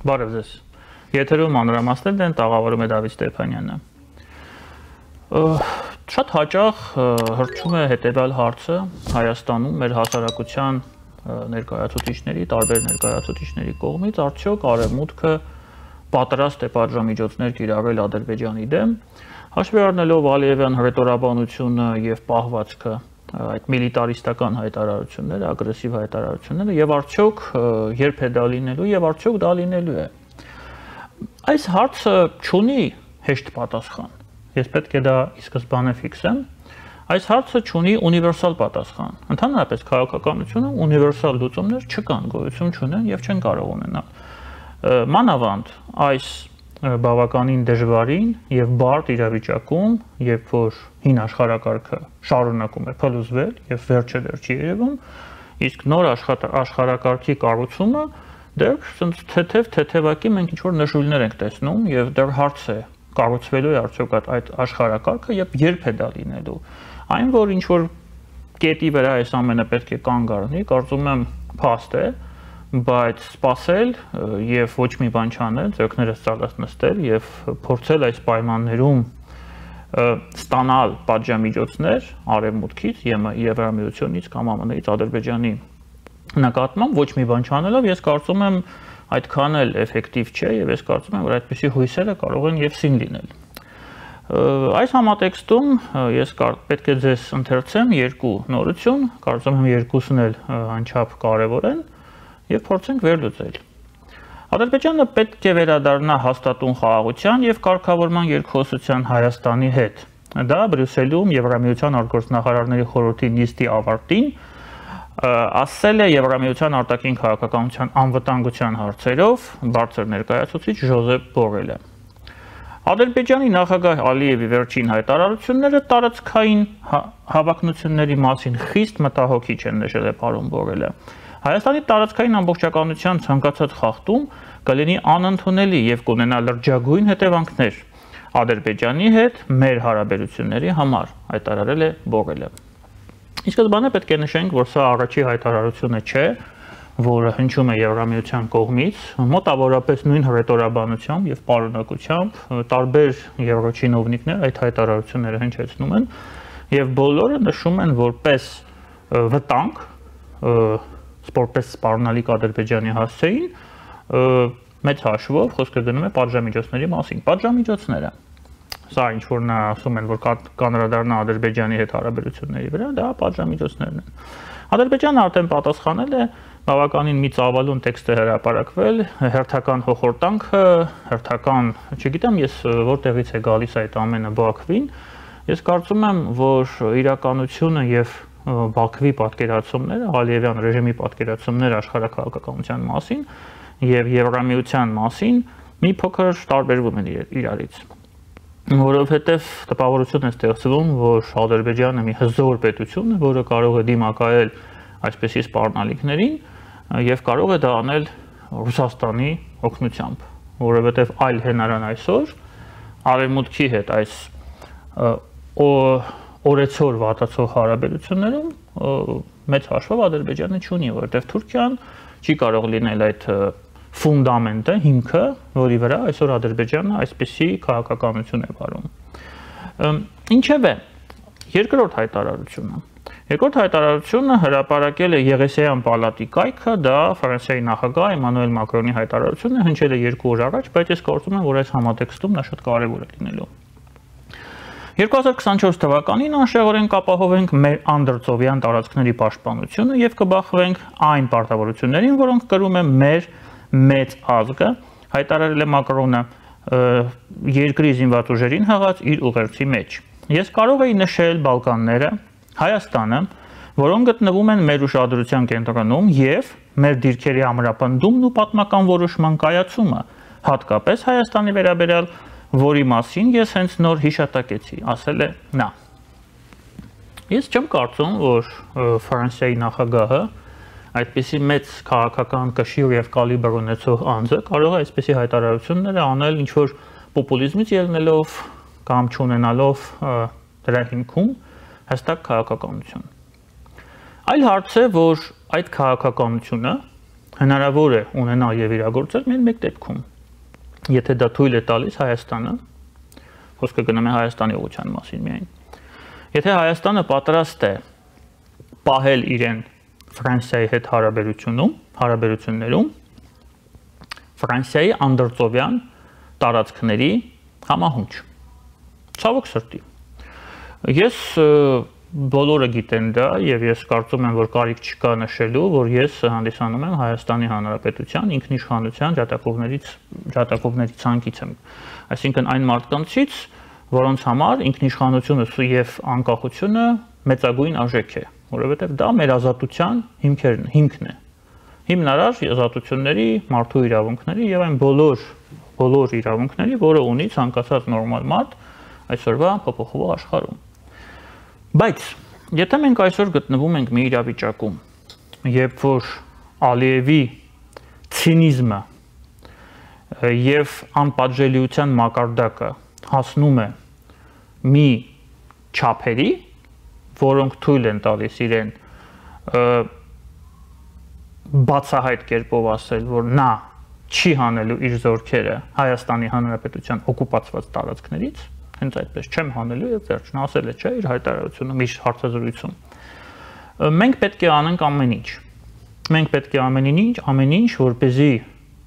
Բարև ձեզ։ Եթերում մանրամասներն են, տաղավարում է Դավիթ Ստեփանյանը։ Շատ հաճախ հրճում է հետևյալ հարցը Հայաստանում մեր հասարակության ներկայացուցիչների, տարբեր ներկայացուցիչների կողմից, արդյոք Արևմուտքը պատրաստ է պատժամիջոցներ կիրառել Ադրբեջանի դեմ, հաշվի առնելով Ալիևյան հռետորաբանությունը եւ պահվածքը այդ միլիտարիստական հայտարարությունները, ագրեսիվ հայտարարությունները եւ արդյոք երբ է դա լինելու եւ արդյոք դա լինելու է։ Այս հարցը չունի հեշտ պատասխան։ Ես պետք է դա ի սկզբանե ֆիքսեմ։ Այս հարցը չունի ունիվերսալ պատասխան։ Ընդհանրապես քաղաքականությունը ունիվերսալ լուծումներ չկան, գոյություն չունեն եւ չեն կարող ունենալ։ Մանավանդ այս բավականին դժվարին եւ բարդ իրավիճակում, երբ որ հին աշխարհակարգը շարունակում է փլուզվել եւ վերջը դեռ չի երևում, իսկ նոր աշխարհակարգի կառուցումը դեռ թեթևակի մենք ինչ-որ նշույլներ ենք տեսնում եւ դեռ հարց է կառուցվելու է արդյոք այդ աշխարհակարգը եւ երբ է դա լինելու։ Այն որ ինչ-որ կետի վրա այս ամենը պետք է կանգ առնի, կարծում եմ փաստ է, բայց սпасել եւ ոչ մի բան չանել, ձեռքներս ծալած նստել եւ փորձել այս պայմաններում ստանալ պատժամիջոցներ Արևմուտքից, Եվրամիությունից կամ ԱՄՆ-ից Ադրբեջանի նկատմամբ ոչ մի բան չանելով, ես կարծում եմ այդքան էլ էֆեկտիվ չէ եւ ես կարծում եմ որ այդպիսի հույսերը կարող են եւ սին լինել։ Այս համատեքստում ես պետք է ձեզ ընթերցեմ երկու նորություն, կարծում եմ երկուսն էլ անչափ կարեւոր են եւ փորձենք վերլուծել։ Ադրբեջանը պետք է վերադառնա հաստատուն խաղաղության եւ կարգավորման երկխոսության Հայաստանի հետ։ Դա Բրյուսելում Եվրամիության արտգործնախարարների խորհրդի նիստի ավարտին ասել է Եվրամիության արտաքին քաղաքականության անվտանգության հարցերով բարձր ներկայացուցիչ Ժոզեփ Բորելը։ Ադրբեջանի նախագահ Ալիևի վերջին հայտարարությունները տարածքային հավակնությունների մասին խիստ մտահոգիչ են, նշել է պարոն Բորելը։ Հայաստանի տարածքային ամբողջականության ցանկացած խախտում կլինի անընդունելի եւ կունենա լրջագույն հետևանքներ Ադրբեջանի հետ մեր հարաբերությունների համար, հայտարարել է Բորելը։ Ի սկզբանե պետք է նշենք, որ սա առաջի հայտարարությունը չէ, որը հնչում է Եվրամիության կողմից, մոտավորապես նույն հռետորաբանությամբ եւ պարունակությամբ տարբեր եվրոչինովնիկներ այդ հայտարարությունները հնչեցնում են եւ բոլորը նշում են որպես վտանգ որպես սպառնալիք Ադրբեջանի հասցեին մեծ հաշվով խոսքը գնում է պատժամիջոցների մասին։ Պատժամիջոցները սա ինչ որ նա ասում են որ կանրադառնա Ադրբեջանի հետ հարաբերությունների վրա, դա պատժամիջոցներն են։ Ադրբեջանը արդեն պատասխանել է, բավականին մի ծավալուն տեքստ է հրապարակվել, հերթական հոխորտանքը, հերթական, չգիտեմ ես որտեղից է գալիս այդ ամենը Բաքվին։ Ես կարծում եմ, որ իրականությունը եւ Բաքվի պատկերացումները, Ալիևյան ռեժիմի պատկերացումները աշխարհակաղակականության մասին եւ Եվրամիության մասին մի փոքր տարբերվում են իրարից։ Որովհետեւ տպավորություն է ստեղծվում, որ Ադրբեջանը մի հզոր պետություն է, որը կարող է դիմակայել այսպիսի սպառնալիքներին եւ կարող է դա անել Ռուսաստանի օգնությամբ, որովհետեւ այլ հնարան այսօր Արևմուտքի հետ այս օրեցօր վատացող հարաբերություններում մեծ հաշվով Ադրբեջանը չունի, որովհետև Թուրքիան չի կարող լինել այդ ֆունդամենտը, հիմքը, որի վրա այսօր Ադրբեջանը այսպիսի քաղաքականություն է վարում։ Ինչևէ, երկրորդ հայտարարությունը։ Երկրորդ հայտարարությունը հրապարակել է Եղեսեյան պալատի կայքը, դա Ֆրանսիայի նախագահ Էմանուել Մակրոնի հայտարարությունն է, հնչել է 2 օր առաջ, բայց ես կարծում եմ, որ այս համատեքստում նա շատ կարևոր է լինելու։ 2024 թվականին անշեղորեն կապահովենք մեր անդրծովյան տարածքների պաշտպանությունը եւ կբախվենք այն պարտավորություններին, որոնք կրում է մեր մեծ ազգը, հայտարարել է Մակրոնը երկրի զինված ուժերին հղած իր ուղերձի մեջ։ Ես կարող եի նշել Բալկանները, Հայաստանը, որոնք գտնվում են մեր ուշադրության կենտրոնում եւ մեր դիրքերի ամրապնդումն ու պատմական որոշման կայացումը, հատկապես Հայաստանի վերաբերյալ որի մասին ես հենց նոր հիշատակեցի, ասել է նա։ Ես չեմ կարծում, որ Ֆրանսիայի նախագահը այդպիսի մեծ քաղաքական կշիռ եւ կալիբր ունեցող անձը կարող է այսպիսի հայտարարությունները անել ինչ-որ պոպուլիզմից ելնելով կամ չունենալով դրա հիմքում հստակ քաղաքականություն։ Այլ հարց է, որ այդ քաղաքականությունը հնարավոր է ունենալ եւ իրագործել միայն մեկ դեպքում։ Եթե դա թույլ է տալիս Հայաստանը, խոսքը գնում է Հայաստանի ուղղության մասին միայն։ Եթե Հայաստանը պատրաստ է պահել իրեն Ֆրանսիայի հետ հարաբերություններում Ֆրանսիայի անդրծովյան տարածքների համահունչ։ Ցավոք սրտի։ Ես բոլորը գիտեն դա եւ ես կարծում եմ, որ կարիք չկա նշելու, որ ես հանդիսանում եմ Հայաստանի Հանրապետության ինքնիշխանության ջատագովների ցանկից եմ։ Այսինքն այն մարդկանցից, որոնց համար ինքնիշխանությունը եւ անկախությունը մեծագույն արժեք է, որովհետեւ դա մեր ազատության հիմքն է։ Հիմնարար ազատությունների, մարդու իրավունքների եւ այն բոլոր իրավունքների, որը ունի ցանկացած նորմալ մարդ այսօրվա փոփոխվող աշխարհում։ Բայց եթե մենք այսօր գտնվում ենք մի իրավիճակում, երբ որ Ալիևի ցինիզմը եւ անպատժելիության մակարդակը հասնում է մի չափերի, որոնք թույլ են տալիս իրեն բացահայտ կերպով ասել, որ նա չի հանելու իր զորքերը Հայաստանի Հանրապետության օկուպացված տարածքներից, հենց այդպես չեմ հանելու եւ վերջ, նա ասել է, չէ, իր հայտարարությունում, իր հարցազրույցում։ Մենք պետք է անենք ամեն ինչ։ Մենք պետք է ամեն ինչ, որպեսզի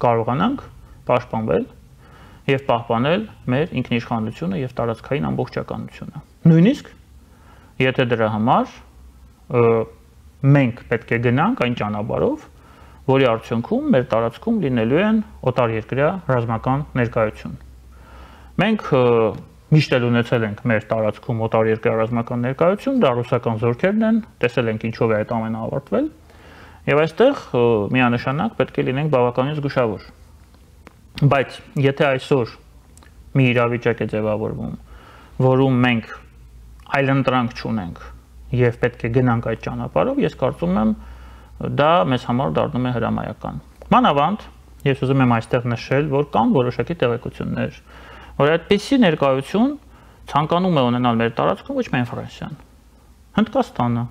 կարողանանք պաշտպանվել եւ պահպանել մեր ինքնիշխանությունը եւ տարածքային ամբողջականությունը։ Նույնիսկ եթե դրա համար մենք պետք է գնանք այն ճանապարհով, որի արդյունքում մեր տարածքում լինելու են օտարերկրյա ռազմական ներկայություն։ Մենք միշտ էլ ունեցել ենք մեր տարածքում օտարերկրյա ռազմական ներկայություն, դա ռուսական զորքերն են, տեսել ենք ինչով է այդ ամենը ավարտվել, եւ այստեղ միանշանակ պետք է լինենք բավականին զգուշավոր։ Բայց եթե այսօր մի իրավիճակ է ձևավորվում, որում մենք այլընտրանք չունենք եւ պետք է գնանք այդ ճանապարհով, ես կարծում եմ դա մեզ համար դառնում է հրամայական։ Մանավանդ ես ուզում եմ այստեղ նշել, որ կան որոշակի տեղեկություններ, որ այդպիսի ներկայություն ցանկանում է ունենալ մեր տարածքում ոչ միայն Ֆրանսիան, Հնդկաստանը,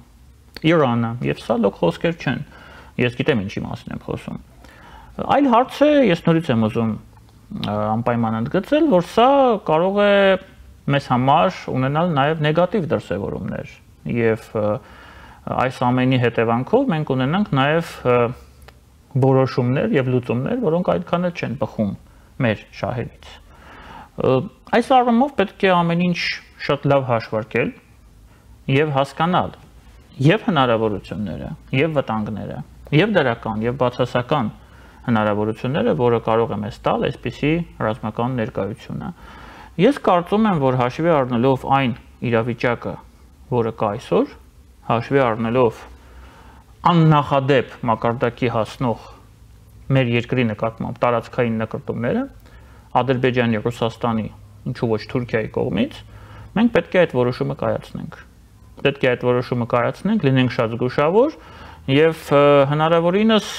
Իրանը, եւ սա լոկ խոսքեր չեն։ Ես գիտեմ ինչի մասին եմ խոսում։ Այլ հարց է, ես նորից եմ ուզում անպայման ընդգծել, որ սա կարող է մեզ համար ունենալ նաեւ նեգատիվ դրսևորումներ եւ այս ամենի հետևանքով մենք ունենանք նաեւ որոշումներ եւ լուծումներ, որոնք այդքան էլ չեն բխում մեր շահերից։ Այս առումով պետք է ամեն ինչ շատ լավ հաշվարկել եւ հասկանալ եւ հնարավորությունները, եւ վտանգները, եւ դրական, եւ բացասական հնարավորությունները, որը կարող է մեզ տալ այսպիսի ռազմական ներկայությունը։ Ես կարծում եմ, որ հաշվի առնելով այն իրավիճակը, որը կա այսօր, հաշվի առնելով աննախադեպ մակարդակի հասնող մեր երկրի նկատմամբ տարածքային նկրտումները, Ադրբեջանի, Ռուսաստանի, ինչու ոչ Թուրքիայի կողմից, մենք պետք է այդ որոշումը կայացնենք։ Պետք է այդ որոշումը կայացնենք, լինենք շատ զգուշավոր եւ հնարավորինս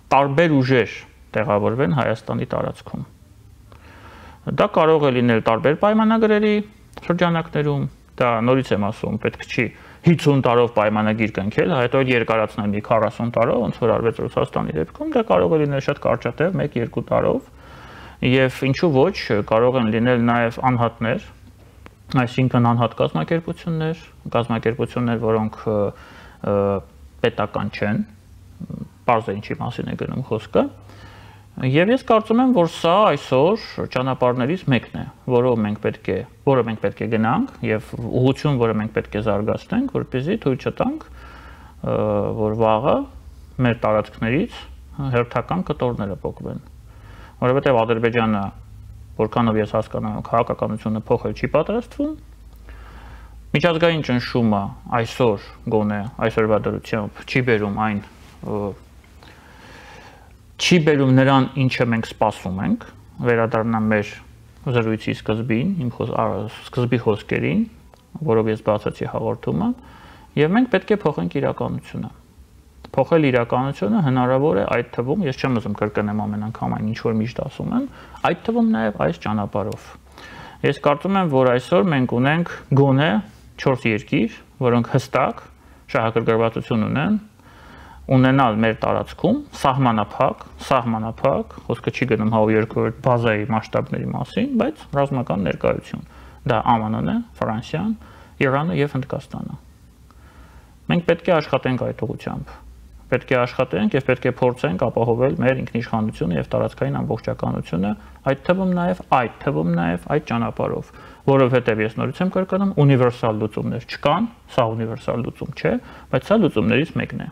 տարբեր ուժեր տեղավորվեն Հայաստանի տարածքում։ Դա կարող է լինել տարբեր պայմանագրերի շրջանակներում, դա նորից եմ ասում, պետք չի 50 տարով պայմանագիր կնքել, հետո երկարացնել մի 40 տարով, ոնց որ արվեց Ռուսաստանի դեպքում, դա կարող է լինել շատ կարճատև 1-2 տարով, եւ ինչու ոչ, կարող են լինել նաեւ անհատներ, այսինքն անհատ կազմակերպություններ, որոնք պետական չեն, պարզ է ինչի մասին է գնում խոսքը, եւ ես կարծում եմ, որ սա այսօր ճանապարհներից մեկն է, որը մենք պետք է գնանք եւ ուղղություն, որը մենք պետք է զարգացնենք, որպեսզի թույլ չտանք, որ վաղը մեր տարածքներից հերթական կտորները փոխվեն։ Որովհետեւ Ադրբեջանը, որքանով ես հասկանում եմ, քաղաքականությունը փոխել չի պատրաստվում, միջազգային ճնշումը այսօր գոնե այսօրվա դրությամբ չի բերում նրան, ինչը մենք սպասում ենք, վերադառնամ մեր զրույցի սկզբի խոսքերին, որով ես բացեցի հաղորդումը, եւ մենք պետք է փոխենք իրականությունը։ Փոխել իրականությունը հնարավոր է այդ թվում, ես չեմ ուզում կրկնեմ ամեն անգամ այն ինչ որ միշտ ասում եմ, այդ թվում նաեւ այս ճանապարհով։ Ես կարծում եմ, որ այսօր մենք ունենք գոնե 4 երկիր, որոնք հստակ շահագրգռվածություն ունեն ունենալ մեր տարածքում սահմանափակ, խոսքը չի գնում 100-200 բազայի մասշտաբների մասին, բայց ռազմական ներկայություն։ Դա ԱՄՆ-ն է, Ֆրանսիան, Իրանը եւ Հնդկաստանը։ Մենք պետք է աշխատենք այդ ուղղությամբ։ Պետք է աշխատենք եւ պետք է փորձենք ապահովել մեր ինքնիշխանությունը եւ տարածքային ամբողջականությունը, այդ թվում նաեւ այդ ճանապարհով, որովհետեւ ես նորից եմ կրկնում, ունիվերսալ լուծումներ չկան, սա ունիվերսալ լուծում չէ, բայց սա լուծումներից մեկն է։